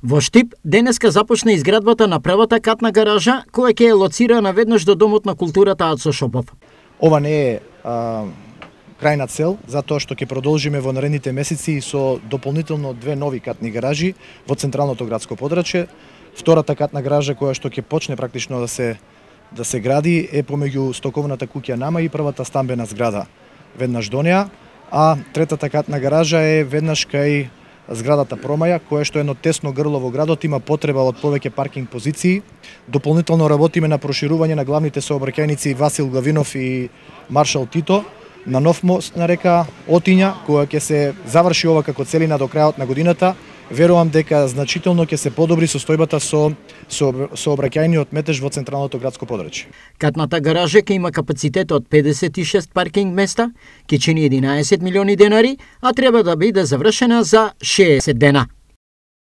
Во Штип денеска започна изградбата на првата катна гаража, која ќе е лоцирана веднаш до Домот на културата Ацо Шопов. Ова не е крајна цел, затоа што ќе продолжиме во наредните месеци со дополнително 2 нови катни гаражи во централното градско подрачје. Втората катна гаража која што ќе почне практично да се гради е помеѓу стоковната куќа Нама и првата стамбена зграда веднаш до неа, а третата катна гаража е веднаш кај зградата Промаја, која што е едно тесно грло во градот, има потреба од повеќе паркинг позиции. Дополнително работиме на проширување на главните сообраќајници Васил Главинов и Маршал Тито, на нов мост на река Отиња, која ќе се заврши ова како целина до крајот на годината. Верувам дека значително ќе се подобри состојбата со сообраќајниот метеж во централното градско подрачје. Катната гаража ќе има капацитет од 56 паркинг места, ќе чини 11 милиони денари, а треба да биде завршена за 60 дена.